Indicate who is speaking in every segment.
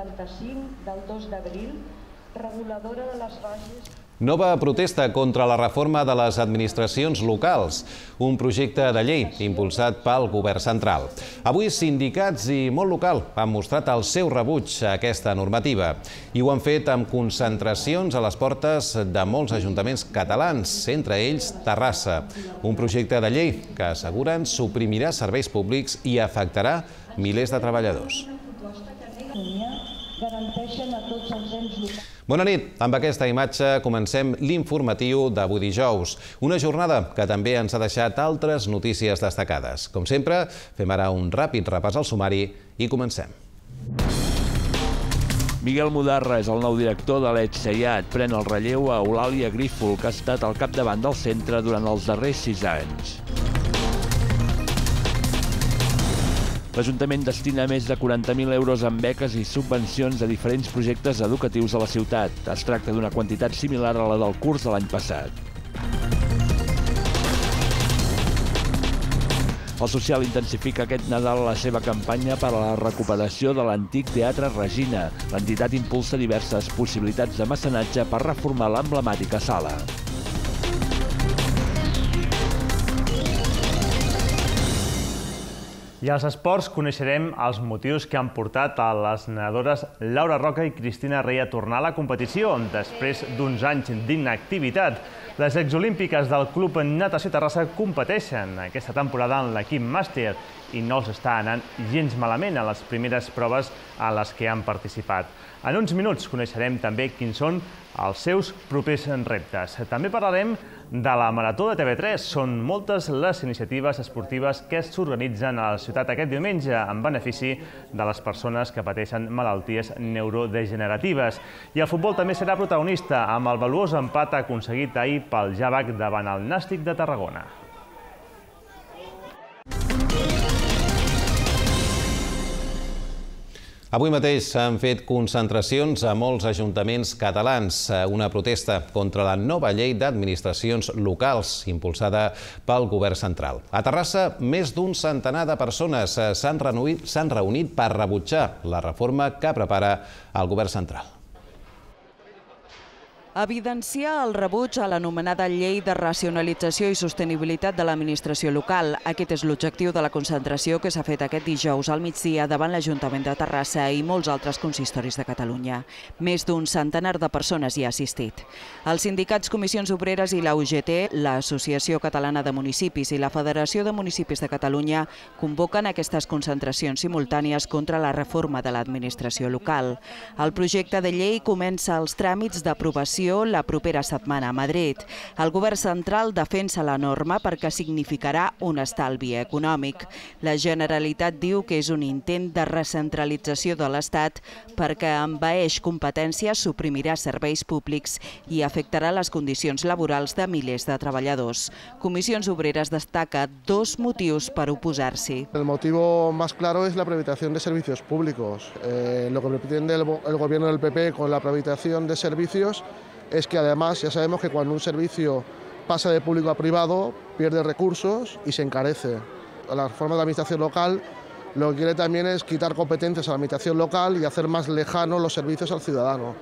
Speaker 1: 85 del 2 d'abril, reguladora de les bases...
Speaker 2: Nova protesta contra la reforma de les administracions locals, un projecte de llei impulsat pel govern central. Avui sindicats i món local han mostrat el seu rebuig a aquesta normativa i ho han fet amb concentracions a les portes de molts ajuntaments catalans, entre ells Terrassa. Un projecte de llei que asseguren suprimirà serveis públics i afectarà milers de treballadors. Bona nit. Amb aquesta imatge comencem l'informatiu d'avui dijous. Una jornada que també ens ha deixat altres notícies destacades. Com sempre, fem ara un ràpid repàs al sumari i comencem.
Speaker 3: Miguel Mudarra és el nou director de l'ETSEIAT. Pren el relleu a Eulàlia Grífol, que ha estat al capdavant del centre durant els darrers 6 anys. L'Ajuntament destina més de 40.000 euros en beques i subvencions a diferents projectes educatius a la ciutat. Es tracta d'una quantitat similar a la del curs de l'any passat. El social intensifica aquest Nadal la seva campanya per a la recuperació de l'antic Teatre Regina. L'entitat impulsa diverses possibilitats de mecenatge per reformar l'emblemàtica sala.
Speaker 4: I als esports coneixerem els motius que han portat a les nedadores Laura Roca i Cristina Rey a tornar a la competició després d'uns anys d'inactivitat. Les exolímpiques del Club Natació Terrassa competeixen aquesta temporada en l'equip màster i no els està anant gens malament a les primeres proves a les que han participat. En uns minuts coneixerem també quins són els seus propers reptes. També parlarem de la Marató de TV3. Són moltes les iniciatives esportives que s'organitzen a la ciutat aquest diumenge en benefici de les persones que pateixen malalties neurodegeneratives. I el futbol també serà protagonista amb el valuós empat aconseguit ahir pel Javac davant el Nàstic de Tarragona.
Speaker 2: Avui mateix s'han fet concentracions a molts ajuntaments catalans, una protesta contra la nova llei d'administracions locals impulsada pel govern central. A Terrassa, més d'un centenar de persones s'han reunit per rebutjar la reforma que prepara el govern central.
Speaker 5: Evidenciar el rebuig a l'anomenada Llei de Racionalització i Sostenibilitat de l'Administració Local. Aquest és l'objectiu de la concentració que s'ha fet aquest dijous al migdia davant l'Ajuntament de Terrassa i molts altres consistoris de Catalunya. Més d'un centenar de persones hi ha assistit. Els sindicats Comissions Obreres i la UGT, l'Associació Catalana de Municipis i la Federació de Municipis de Catalunya convoquen aquestes concentracions simultànies contra la reforma de l'administració local. El projecte de llei comença els tràmits d'aprovació la propera setmana a Madrid. El govern central defensa la norma perquè significarà un estalvi econòmic. La Generalitat diu que és un intent de recentralització de l'Estat perquè envaeix competències, suprimirà serveis públics i afectarà les condicions laborals de milers de treballadors. Comissions Obreres destaca 2 motius per oposar-s'hi.
Speaker 6: El motivo más claro es la privatización de servicios públicos. Lo que pretende el gobierno del PP con la privatización de servicios es que además ya sabemos que cuando un servicio pasa de público a privado pierde recursos y se encarece. La reforma de la administración local lo que quiere también es quitar competencias a la administración local y hacer más lejanos los servicios al ciudadano.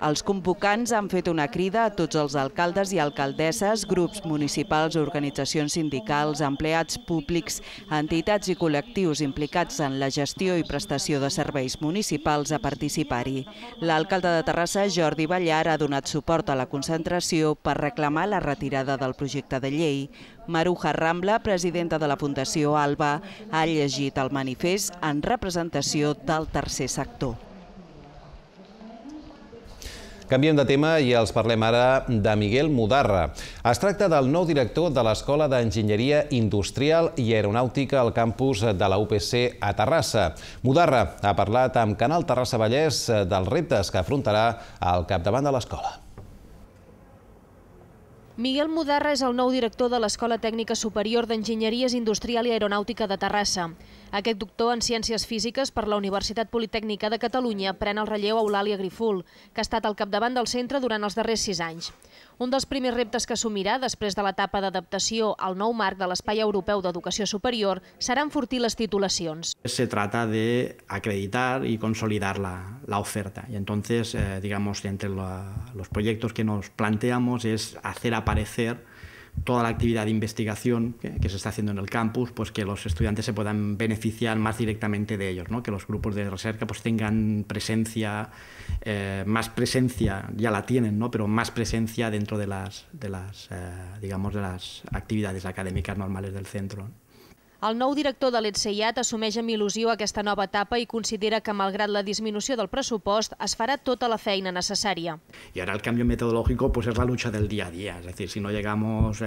Speaker 5: Els convocants han fet una crida a tots els alcaldes i alcaldesses, grups municipals, organitzacions sindicals, empleats públics, entitats i col·lectius implicats en la gestió i prestació de serveis municipals a participar-hi. L'alcalde de Terrassa, Jordi Ballar, ha donat suport a la concentració per reclamar la retirada del projecte de llei. Maruja Rambla, presidenta de la Fundació Alba, ha llegit el manifest en representació del tercer sector.
Speaker 2: Canviem de tema i els parlem ara de Miguel Mudarra. Es tracta del nou director de l'Escola d'Enginyeria Industrial i Aeronàutica al campus de la UPC a Terrassa. Mudarra ha parlat amb Canal Terrassa Vallès dels reptes que afrontarà al capdavant de l'escola.
Speaker 7: Miguel Mudarra és el nou director de l'Escola Tècnica Superior d'Enginyeries Industrial i Aeronàutica de Terrassa. Aquest doctor en Ciències Físiques per la Universitat Politècnica de Catalunya pren el relleu a Eulàlia Griful, que ha estat al capdavant del centre durant els darrers 6 anys. Un dels primers reptes que assumirà després de l'etapa d'adaptació al nou marc de l'Espai Europeu d'Educació Superior serà enfortir les titulacions.
Speaker 8: Se trata de acreditar y consolidar la oferta. Y entonces, digamos, entre los proyectos que nos planteamos es hacer aparecer toda la actividad de investigación que se está haciendo en el campus, pues que los estudiantes se puedan beneficiar más directamente de ellos, ¿no? Que los grupos de recerca pues tengan presencia, más presencia, ya la tienen, ¿no? Pero más presencia dentro de las actividades académicas normales del centro.
Speaker 7: El nou director de l'ETSEIAT assumeix amb il·lusió aquesta nova etapa i considera que, malgrat la disminució del pressupost, es farà tota la feina necessària.
Speaker 8: Y ahora el cambio metodológico pues es la lucha del día a día, es decir, si no llegamos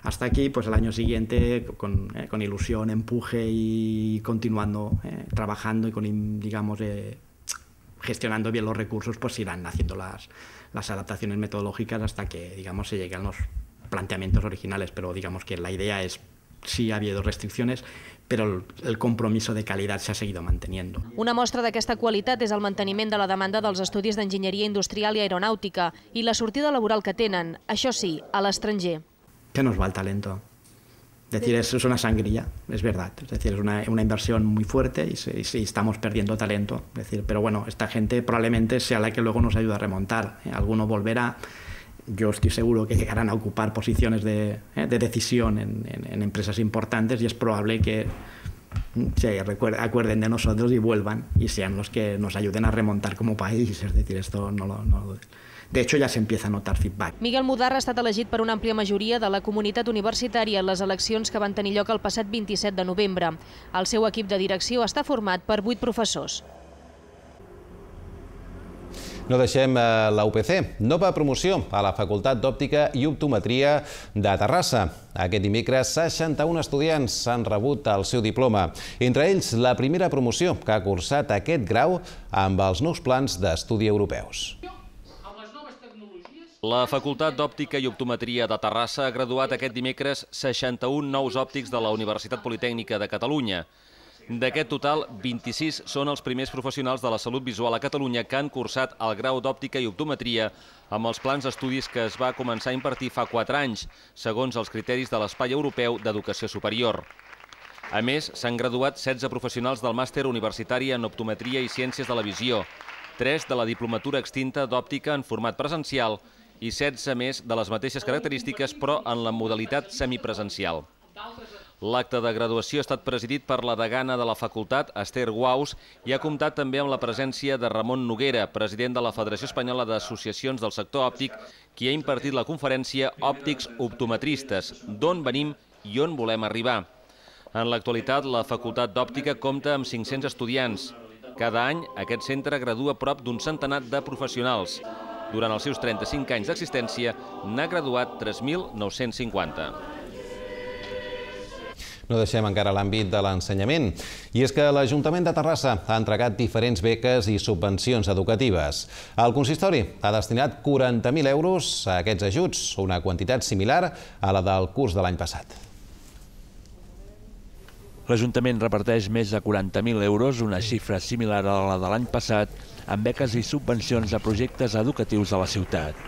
Speaker 8: hasta aquí, pues el año siguiente con ilusión, empuje y continuando trabajando y con, digamos, gestionando bien los recursos, pues irán haciendo las adaptaciones metodológicas hasta que, digamos, se lleguen los planteamientos originales, pero digamos que la idea es sí ha habido restricciones, pero el compromiso de calidad se ha seguido manteniendo.
Speaker 7: Una mostra d'aquesta qualitat és el manteniment de la demanda dels estudis d'enginyeria industrial i aeronàutica i la sortida laboral que tenen, això sí, a l'estranger.
Speaker 8: ¿Qué nos va el talento? Es decir, es una sangría, es verdad. Es decir, es una inversión muy fuerte y estamos perdiendo talento. Es decir, pero bueno, esta gente probablemente sea la que luego nos ayuda a remontar. Alguno volverá. Yo estoy seguro que llegarán a ocupar posiciones de decisión en empresas importantes y es probable que se acuerden de nosotros y vuelvan y sean los que nos ayuden a remontar como país. Es decir, esto de hecho ya se empieza a notar feedback.
Speaker 7: Miguel Mudarra ha estat elegit per una àmplia majoria de la comunitat universitària en les eleccions que van tenir lloc el passat 27 de novembre. El seu equip de direcció està format per 8 professors.
Speaker 2: No deixem la UPC. Nova promoció a la Facultat d'Òptica i Optometria de Terrassa. Aquest dimecres, 61 estudiants han rebut el seu diploma. Entre ells, la primera promoció que ha cursat aquest grau amb els nous plans d'estudi europeus.
Speaker 9: La Facultat d'Òptica i Optometria de Terrassa ha graduat aquest dimecres 61 nous òptics de la Universitat Politècnica de Catalunya. D'aquest total, 26 són els primers professionals de la salut visual a Catalunya que han cursat el grau d'òptica i optometria amb els plans d'estudis que es va començar a impartir fa 4 anys, segons els criteris de l'Espai Europeu d'Educació Superior. A més, s'han graduat 16 professionals del màster universitari en optometria i ciències de la visió, 3 de la diplomatura extinta d'òptica en format presencial i 16 més de les mateixes característiques però en la modalitat semipresencial. L'acte de graduació ha estat presidit per la degana de la facultat, Esther Guaus, i ha comptat també amb la presència de Ramon Noguera, president de la Federació Espanyola d'Associacions del Sector Òptic, qui ha impartit la conferència Òptics Optometristes, d'on venim i on volem arribar. En l'actualitat, la Facultat d'Òptica compta amb 500 estudiants. Cada any, aquest centre gradua prop d'un centenar de professionals. Durant els seus 35 anys d'existència, n'ha graduat 3.950.
Speaker 2: No deixem encara l'àmbit de l'ensenyament. I és que l'Ajuntament de Terrassa ha entregat diferents beques i subvencions educatives. El consistori ha destinat 40.000 euros a aquests ajuts, una quantitat similar a la del curs de l'any passat.
Speaker 3: L'Ajuntament reparteix més de 40.000 euros, una xifra similar a la de l'any passat, amb beques i subvencions a projectes educatius de la ciutat.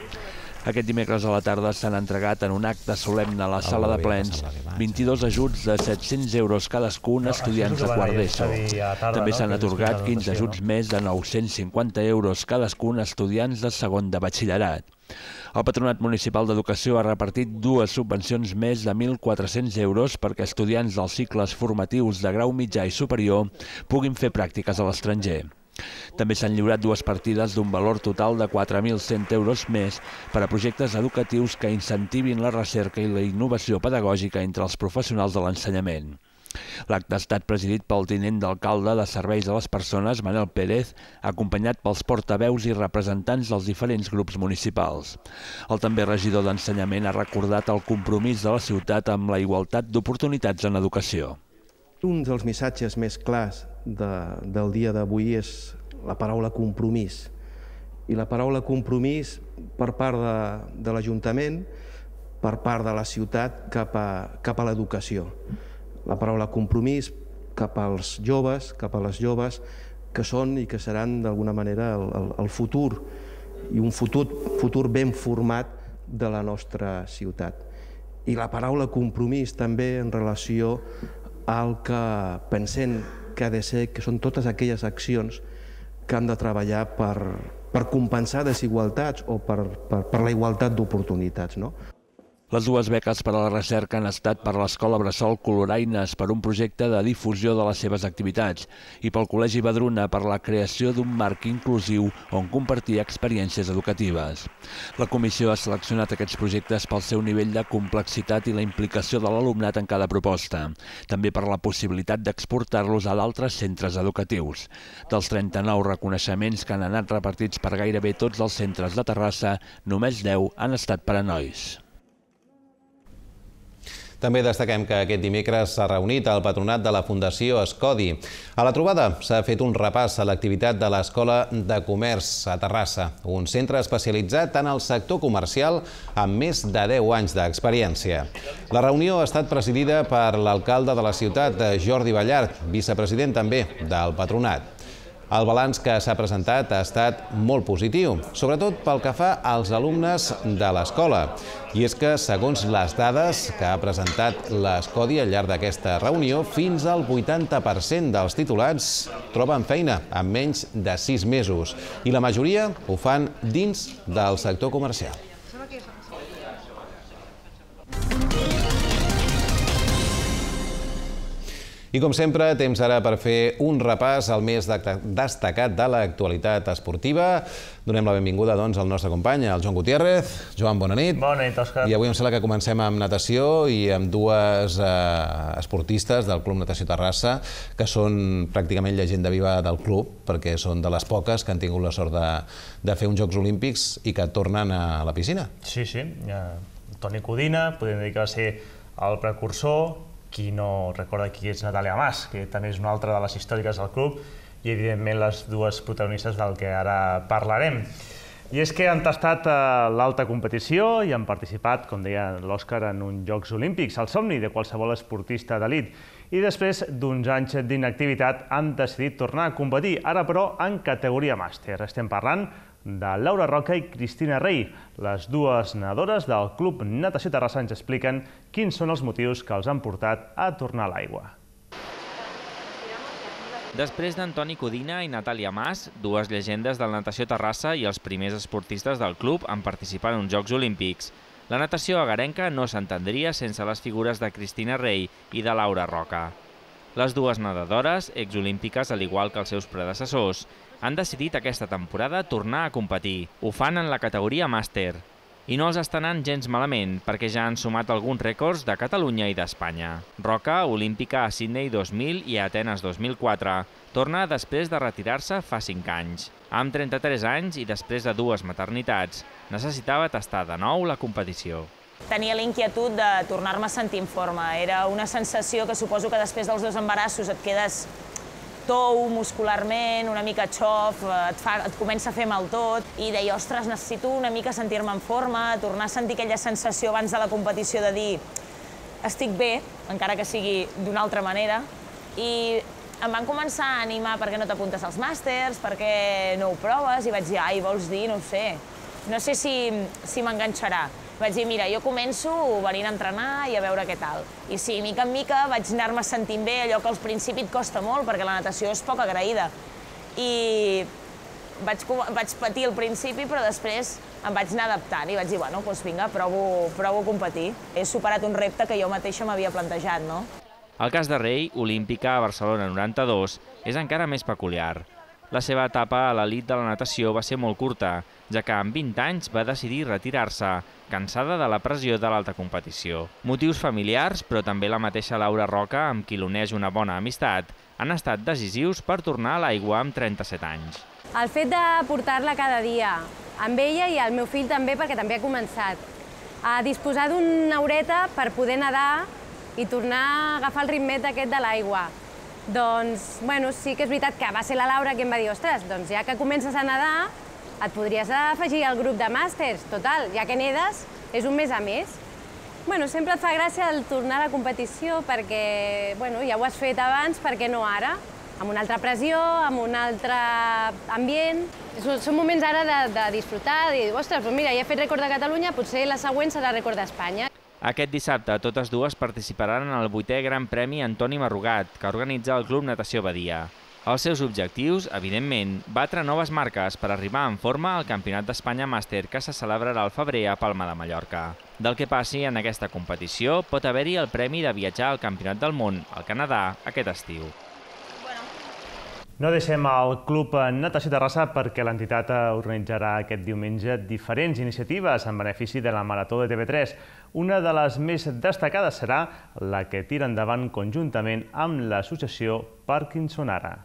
Speaker 3: Aquest dimecres a la tarda s'han entregat en un acte solemne a la sala de plens 22 ajuts de 700 euros cadascun a estudiants de quart d'ESO. També s'han atorgat 15 ajuts més de 950 euros cadascun a estudiants de segon de batxillerat. El Patronat Municipal d'Educació ha repartit 2 subvencions més de 1.400 euros perquè estudiants dels cicles formatius de grau mitjà i superior puguin fer pràctiques a l'estranger. També s'han lliurat 2 partides d'un valor total de 4.100 euros més per a projectes educatius que incentivin la recerca i la innovació pedagògica entre els professionals de l'ensenyament. L'acte ha estat presidit pel tinent d'alcalde de Serveis a les Persones, Manel Pérez, acompanyat pels portaveus i representants dels diferents grups municipals. El també regidor d'Ensenyament ha recordat el compromís de la ciutat amb la igualtat d'oportunitats en educació.
Speaker 10: Un dels missatges més clars del dia d'avui és la paraula compromís. I la paraula compromís per part de l'Ajuntament, per part de la ciutat cap a l'educació. La paraula compromís cap als joves, cap a les joves, que són i que seran d'alguna manera el futur, i un futur ben format de la nostra ciutat. I la paraula compromís també en relació al que pensem que ha de ser, que són totes aquelles accions que han de treballar per compensar desigualtats o per la igualtat d'oportunitats, no?
Speaker 3: Les dues beques per a la recerca han estat per l'Escola Bressol Coloraines per un projecte de difusió de les seves activitats i pel Col·legi Badruna per la creació d'un marc inclusiu on compartir experiències educatives. La comissió ha seleccionat aquests projectes pel seu nivell de complexitat i la implicació de l'alumnat en cada proposta, també per la possibilitat d'exportar-los a d'altres centres educatius. Dels 39 reconeixements que han anat repartits per gairebé tots els centres de Terrassa, només 10 han estat per a nois.
Speaker 2: També destaquem que aquest dimecres s'ha reunit el patronat de la Fundació Escodi. A la trobada s'ha fet un repàs a l'activitat de l'Escola de Comerç a Terrassa, un centre especialitzat en el sector comercial amb més de 10 anys d'experiència. La reunió ha estat presidida per l'alcalde de la ciutat, Jordi Ballart, vicepresident també del patronat. El balanç que s'ha presentat ha estat molt positiu, sobretot pel que fa als alumnes de l'escola. I és que, segons les dades que ha presentat l'Escodi al llarg d'aquesta reunió, fins al 80% dels titulats troben feina en menys de 6 mesos i la majoria ho fan dins del sector comercial. I com sempre, temps ara per fer un repàs al més destacat de l'actualitat esportiva. Donem la benvinguda al nostre company, el Joan Gutiérrez. Joan, bona nit.
Speaker 4: Bona nit, Òscar.
Speaker 2: I avui em sembla que comencem amb natació i amb dues esportistes del Club Natació Terrassa que són pràcticament llegenda viva del club, perquè són de les poques que han tingut la sort de fer uns Jocs Olímpics i que tornen a la piscina.
Speaker 4: Sí. Toni Codina, podem dir que va ser el precursor. Qui no recorda qui és Natàlia Mas, que també és una altra de les històriques del club, i evidentment les dues protagonistes del que ara parlarem. I és que han tastat l'alta competició i han participat, com deia l'Òscar, en uns Jocs Olímpics, el somni de qualsevol esportista d'elit. I després d'uns anys d'inactivitat han decidit tornar a competir, ara però en categoria màster. Estem parlant de Laura Roca i Cristina Rey. Les dues nedadores del Club Natació Terrassa ens expliquen quins són els motius que els han portat a tornar a l'aigua.
Speaker 11: Després d'Antoni Codina i Natàlia Mas, dues llegendes del Natació Terrassa i els primers esportistes del club en participar en uns Jocs Olímpics, la natació agarenca no s'entendria sense les figures de Cristina Rey i de Laura Roca. Les dues nedadores, exolímpiques al igual que els seus predecessors, han decidit aquesta temporada tornar a competir. Ho fan en la categoria màster. I no els està anant gens malament, perquè ja han sumat alguns rècords de Catalunya i d'Espanya. Roca, olímpica a Sydney 2000 i a Atenes 2004, torna després de retirar-se fa 5 anys. Amb 33 anys i després de 2 maternitats, necessitava tastar de nou la competició.
Speaker 12: Tenia l'inquietud de tornar-me a sentir en forma. Era una sensació que suposo que després dels 2 embarassos et quedes tou muscularment, una mica xof, et comença a fer mal tot, i deia, ostres, necessito una mica sentir-me en forma, tornar a sentir aquella sensació abans de la competició de dir estic bé, encara que sigui d'una altra manera, i em van començar a animar perquè no t'apuntes als màsters, perquè no ho proves, i vaig dir, ai, vols dir? No ho sé. No sé si m'enganxarà. Vaig dir, mira, jo començo venint a entrenar i a veure què tal. I sí, mica en mica vaig anar-me sentint bé, allò que al principi et costa molt, perquè la natació és poc agraïda. I vaig patir al principi, però després em vaig anar adaptant i vaig dir, bueno, doncs vinga, provo a competir. He superat un repte que jo mateixa m'havia plantejat, no?
Speaker 11: El cas de Rey, olímpica a Barcelona 92, és encara més peculiar. La seva etapa a l'elit de la natació va ser molt curta, ja que amb 20 anys va decidir retirar-se, cansada de la pressió de l'alta competició. Motius familiars, però també la mateixa Laura Roca, amb qui l'uneix una bona amistat, han estat decisius per tornar a l'aigua amb 37 anys.
Speaker 13: El fet de portar-la cada dia, amb ella i el meu fill també, perquè també ha començat, a disposar d'una horeta per poder nedar i tornar a agafar el ritmet aquest de l'aigua. Doncs, bueno, sí que és veritat que va ser la Laura que em va dir, ostres, doncs ja que comences a nedar, et podries afegir al grup de màsters, total, ja que nedes, és un mes a més. Bueno, sempre et fa gràcia el tornar a la competició perquè ja ho has fet abans, per què no ara? Amb una altra pressió, amb un altre ambient. Són moments ara de disfrutar, de dir, ostres, doncs mira, ja he fet rècord de Catalunya, potser la següent serà rècord d'Espanya.
Speaker 11: Aquest dissabte, totes dues participaran en el 8è Gran Premi Antoni Marrugat, que organitza el Club Natació Badia. Els seus objectius, evidentment, batre noves marques per arribar en forma al Campionat d'Espanya Màster que se celebrarà al febrer a Palma de Mallorca. Del que passi en aquesta competició, pot haver-hi el premi de viatjar al Campionat del Món al Canadà aquest estiu.
Speaker 4: No deixem el Club Natació Terrassa perquè l'entitat organitzarà aquest diumenge diferents iniciatives en benefici de la Marató de TV3. Una de les més destacades serà la que tira endavant conjuntament amb l'associació Parkinson Ara.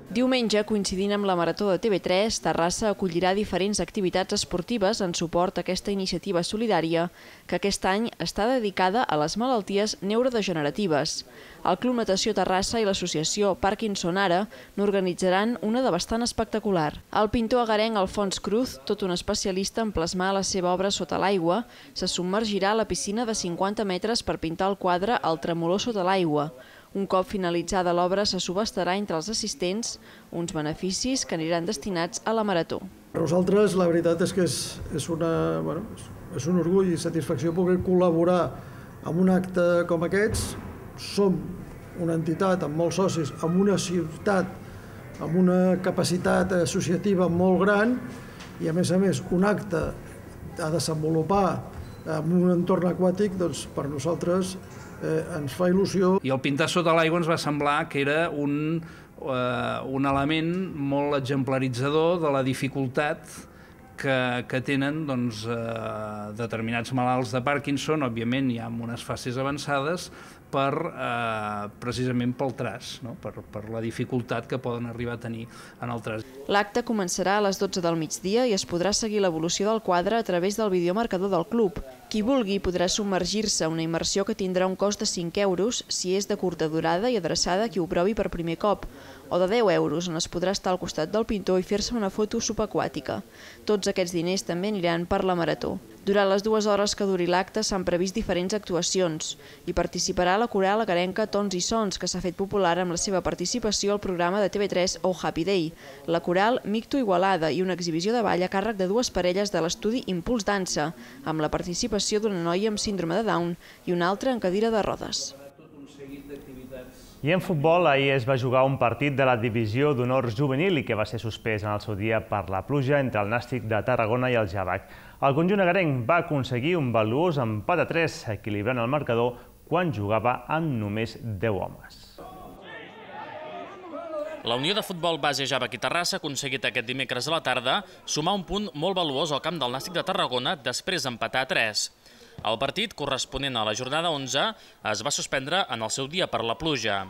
Speaker 7: Diumenge, coincidint amb la Marató de TV3, Terrassa acollirà diferents activitats esportives en suport a aquesta iniciativa solidària que aquest any està dedicada a les malalties neurodegeneratives. El Club Natació Terrassa i l'associació Parkinson Ara n'organitzaran una de bastant espectacular. El pintor agarenc Alfons Cruz, tot un especialista en plasmar la seva obra sota l'aigua, se submergirà a la piscina de 50 metres per pintar el quadre El tremolor sota l'aigua. Un cop finalitzada l'obra se subhastarà entre els assistents uns beneficis que aniran destinats a la Marató.
Speaker 14: Per nosaltres la veritat és que és un orgull i satisfacció poder col·laborar amb un acte com aquests. Som una entitat amb molts socis, amb una ciutat amb una capacitat associativa molt gran i a més un acte a desenvolupar en un entorn aquàtic, doncs per nosaltres ens fa il·lusió.
Speaker 15: I el pintar sota l'aigua ens va semblar que era un element molt exemplaritzador de la dificultat que tenen determinats malalts de Parkinson, òbviament ja en unes fases avançades, precisament pel traç, per la dificultat que poden arribar a tenir en el traç.
Speaker 7: L'acte començarà a les 12 del migdia i es podrà seguir l'evolució del quadre a través del videomarcador del club. Qui vulgui podrà submergir-se a una immersió que tindrà un cost de 5 euros si és de curta durada i adreçada a qui ho provi per primer cop, o de 10 euros on es podrà estar al costat del pintor i fer-se una foto subaquàtica. Tots aquests diners també aniran per la Marató. Durant les 2 hores que duri l'acte s'han previst diferents actuacions. Hi participarà la coral agarenca Tons i Sons, que s'ha fet popular amb la seva participació al programa de TV3 Oh Happy Day, la coral Micto Igualada i una exhibició de ball a càrrec de 2 parelles de l'estudi Impuls Dansa, amb la participació d'una noia amb síndrome de Down i una altra en cadira de rodes.
Speaker 4: I en futbol, ahir es va jugar un partit de la divisió d'honor juvenil i que va ser suspès en el seu dia per la pluja entre el Nàstic de Tarragona i el Javac. El conjunt agarenc va aconseguir un valuós empat a 3, equilibrant el marcador quan jugava amb només 10 homes.
Speaker 16: La Unió de Futbol Base Javac i Terrassa ha aconseguit aquest dimecres a la tarda sumar un punt molt valuós al camp del Nàstic de Tarragona després d'empatar a 3. El partit, corresponent a la jornada 11, es va suspendre en el seu dia per la pluja.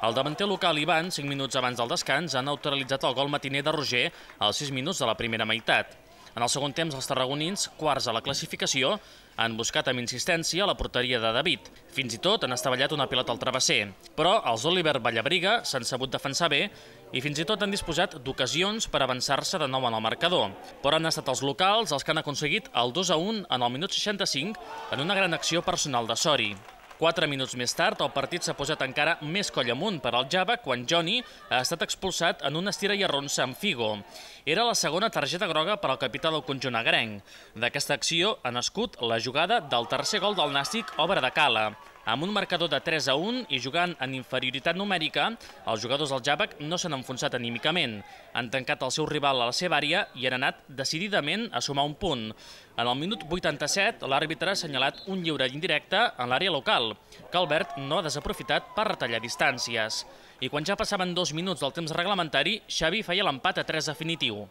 Speaker 16: El davanter local Ivan, 5 minuts abans del descans, ha neutralitzat el gol matiner de Roger als 6 minuts de la primera meitat. En el segon temps, els tarragonins, quarts a la classificació, han buscat amb insistència la porteria de David. Fins i tot han estavellat una pilota al travesser. Però els Oliver Vallabriga s'han sabut defensar bé i fins i tot han disposat d'ocasions per avançar-se de nou en el marcador. Però han estat els locals els que han aconseguit el 2-1 en el minut 65 en una gran acció personal de Sori. 4 minuts més tard, el partit s'ha posat encara més coll amunt per al Javac quan Johnny ha estat expulsat en una estira i arronsa amb Figo. Era la segona targeta groga per al capità del conjunt agarenc. D'aquesta acció ha nascut la jugada del tercer gol del Nàstic, obra de Cala. Amb un marcador de 3-1 i jugant en inferioritat numèrica, els jugadors del Javac no s'han enfonsat anímicament. Han tancat el seu rival a la seva àrea i han anat decididament a sumar un punt. En el minut 87, l'àrbitre ha assenyalat un lliure indirecte en l'àrea local, que Albert no ha desaprofitat per retallar distàncies. I quan ja passaven 2 minuts del temps reglamentari, Xavi feia l'empat a 3 definitiu.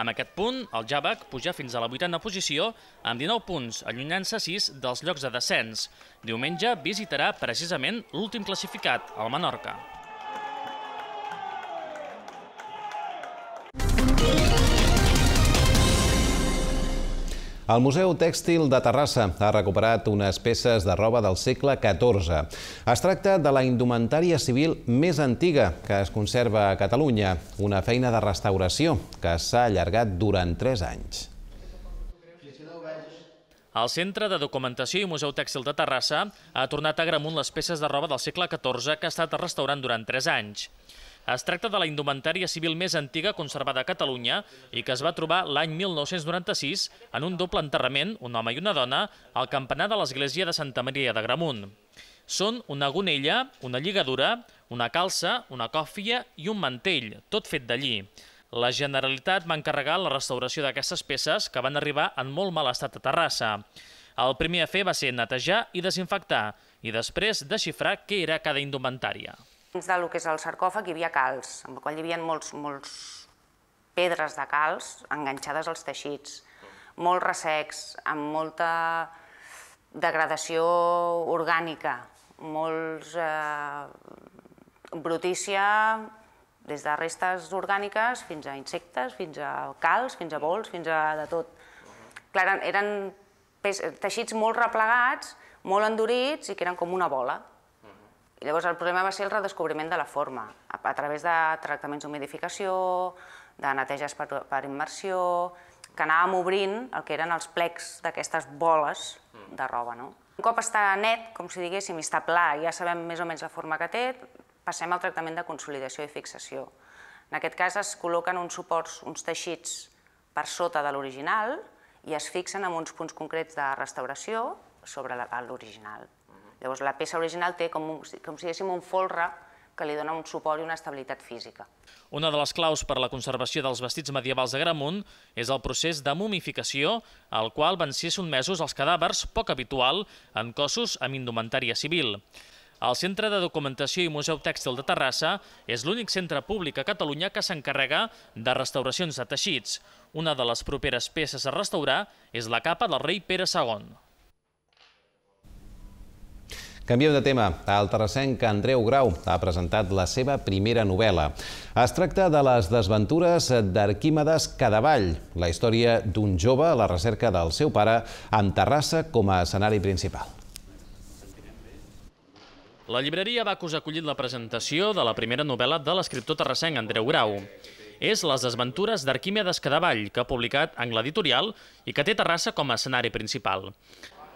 Speaker 16: Amb aquest punt, el Javac puja fins a la 8a posició amb 19 punts, allunyant-se 6 dels llocs de descens. Diumenge visitarà precisament l'últim classificat, el Menorca.
Speaker 2: El Museu Tèxtil de Terrassa ha recuperat unes peces de roba del segle XIV. Es tracta de la indumentària civil més antiga que es conserva a Catalunya, una feina de restauració que s'ha allargat durant 3 anys.
Speaker 16: El Centre de Documentació i Museu Tèxtil de Terrassa ha tornat a Agramunt les peces de roba del segle XIV que ha estat restaurant durant 3 anys. Es tracta de la indumentària civil més antiga conservada a Catalunya i que es va trobar l'any 1996 en un doble enterrament, un home i una dona, al campanar de l'església de Santa Maria d'Agramunt. Són una gonella, una lligadura, una calça, una còfia i un mantell, tot fet d'allí. La Generalitat va encarregar la restauració d'aquestes peces que van arribar en molt mal estat a Terrassa. El primer a fer va ser netejar i desinfectar i després desxifrar què era cada indumentària.
Speaker 17: Dins del que és el sarcòfag hi havia calç, amb el qual hi havia molts pedres de calç enganxades als teixits, molt ressecs, amb molta degradació orgànica, molts brutícia, des de restes orgàniques fins a insectes, fins a calç, fins a bols, fins a de tot. Clar, eren teixits molt replegats, molt endurits i que eren com una bola. I llavors el problema va ser el redescobriment de la forma, a través de tractaments d'humidificació, de neteges per immersió, que anàvem obrint el que eren els plecs d'aquestes boles de roba. Un cop està net, com si diguéssim, i està pla, ja sabem més o menys la forma que té, passem al tractament de consolidació i fixació. En aquest cas es col·loquen uns suports, uns teixits per sota de l'original i es fixen en uns punts concrets de restauració sobre l'original. Llavors la peça original té com si diguéssim un folre que li dona un suport i una estabilitat física.
Speaker 16: Una de les claus per a la conservació dels vestits medievals d'Agramunt és el procés de mumificació, al qual van ser sotmesos els cadàvers, poc habitual, en cossos amb indumentària civil. El Centre de Documentació i Museu Tèxtil de Terrassa és l'únic centre públic a Catalunya que s'encarrega de restauracions de teixits. Una de les properes peces a restaurar és la capa del rei Pere II.
Speaker 2: Canviem de tema. El terrassenc Andreu Grau ha presentat la seva primera novel·la. Es tracta de les desventures d'Arquímedes Cadavall, la història d'un jove a la recerca del seu pare amb Terrassa com a escenari principal.
Speaker 16: La llibreria Bacus ha acollit la presentació de la primera novel·la de l'escriptor terrassenc Andreu Grau. És Les desventures d'Arquímedes Cadavall, que ha publicat en l'editorial i que té Terrassa com a escenari principal.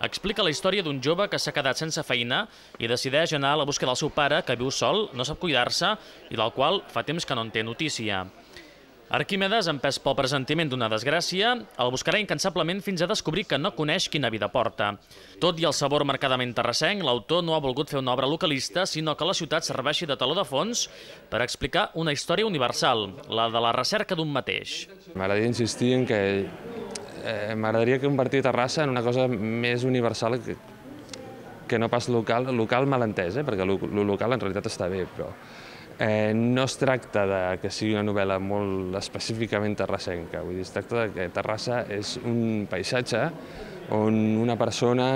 Speaker 16: Explica la història d'un jove que s'ha quedat sense feina i decideix anar a la busca del seu pare, que viu sol, no sap cuidar-se i del qual fa temps que no en té notícia. Arquímedes, empès pel pressentiment d'una desgràcia, el buscarà incansablement fins a descobrir que no coneix quina vida porta. Tot i el sabor marcadament terrassenc, l'autor no ha volgut fer una obra localista, sinó que la ciutat serveixi de teló de fons per explicar una història universal, la de la recerca d'un mateix.
Speaker 18: M'agradaria insistir en que m'agradaria convertir Terrassa en una cosa més universal que no pas local malentès, perquè el local en realitat està bé, però no es tracta que sigui una novel·la molt específicament terrassenca, vull dir, es tracta que Terrassa és un paisatge on una persona,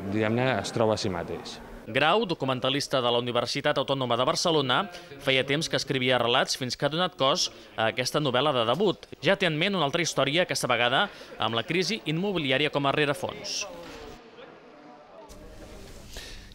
Speaker 18: diguem-ne, es troba a si mateix.
Speaker 16: Grau, documentalista de la Universitat Autònoma de Barcelona, feia temps que escrivia relats fins que ha donat cos a aquesta novel·la de debut. Ja té en ment una altra història, aquesta vegada amb la crisi immobiliària com a rerefons.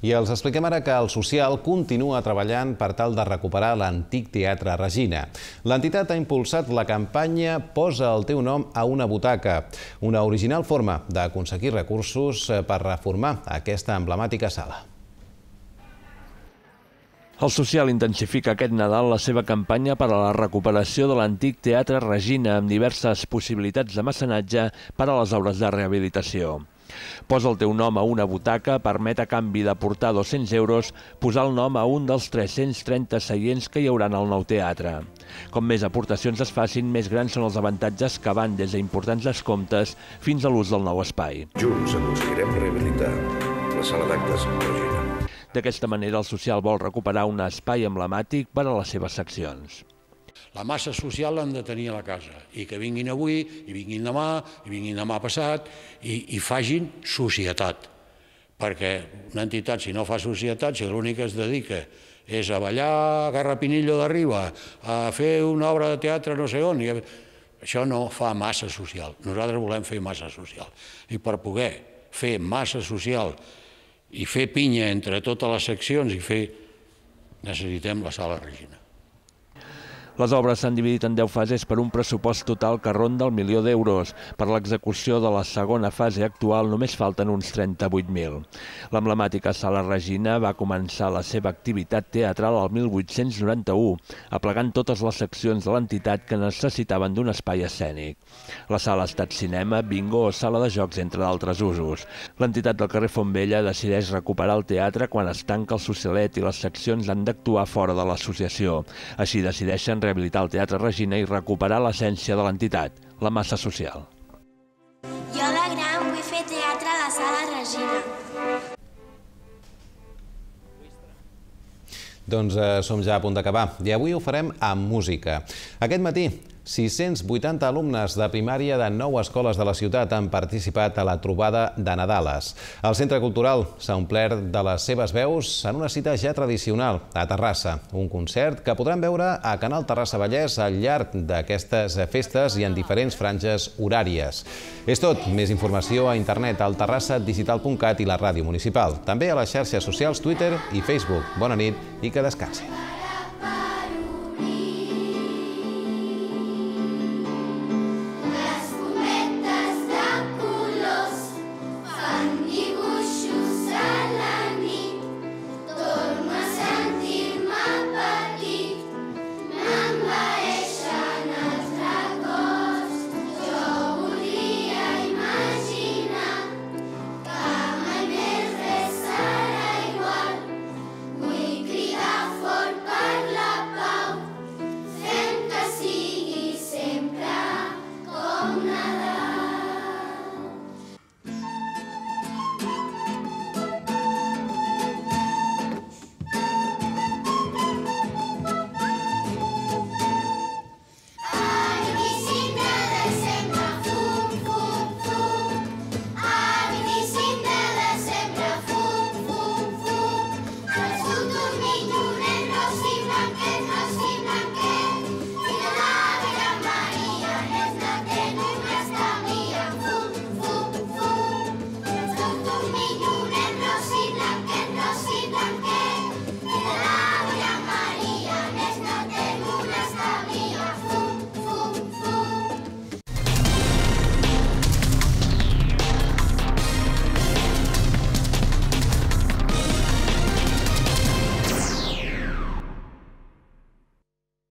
Speaker 2: I els expliquem ara que el Social continua treballant per tal de recuperar l'antic Teatre Regina. L'entitat ha impulsat la campanya Posa el teu nom a una butaca, una original forma d'aconseguir recursos per reformar aquesta emblemàtica sala.
Speaker 3: El Social intensifica aquest Nadal la seva campanya per a la recuperació de l'antic Teatre Regina amb diverses possibilitats de mecenatge per a les obres de rehabilitació. Posa el teu nom a una butaca permet a canvi d'aportar 200 euros posar el nom a un dels 330 seients que hi haurà al nou teatre. Com més aportacions es facin, més grans són els avantatges que van des d'importants descomptes fins a l'ús del nou espai.
Speaker 19: Junts aconseguirem rehabilitar la sala d'actes Regina.
Speaker 3: D'aquesta manera, el Social vol recuperar un espai emblemàtic per a les seves seccions.
Speaker 20: La massa social l'han de tenir a la casa i que vinguin avui, i vinguin demà passat i facin societat. Perquè una entitat, si no fa societat, si l'únic que es dedica és a ballar a Garrapinillo d'Arriba, a fer una obra de teatre no sé on, això no fa massa social. Nosaltres volem fer massa social. I per poder fer massa social i fer pinya entre totes les seccions necessitem la sala Regina.
Speaker 3: Les obres s'han dividit en 10 fases per un pressupost total que ronda el milió d'euros. Per l'execució de la segona fase actual només falten uns 38.000. L'emblemàtica Sala Regina va començar la seva activitat teatral al 1891, aplegant totes les seccions de l'entitat que necessitaven d'un espai escènic. La sala ha estat cinema, bingo o sala de jocs, entre d'altres usos. L'entitat del carrer Fontvella decideix recuperar el teatre quan es tanca el Socialet i les seccions han d'actuar fora de l'associació. Així decideixen rehabilitar el Teatre Regina i recuperar l'essència de l'entitat, la massa social.
Speaker 21: Jo de gran vull fer teatre a la Sala Regina.
Speaker 2: Doncs som ja a punt d'acabar i avui ho farem amb música. Aquest matí, 680 alumnes de primària de 9 escoles de la ciutat han participat a la trobada de Nadales. El Centre Cultural s'ha omplert de les seves veus en una cita ja tradicional a Terrassa, un concert que podran veure a Canal Terrassa Vallès al llarg d'aquestes festes i en diferents franges horàries. És tot. Més informació a internet al terrassadigital.cat i la ràdio municipal. També a les xarxes socials Twitter i Facebook. Bona nit i que descansin.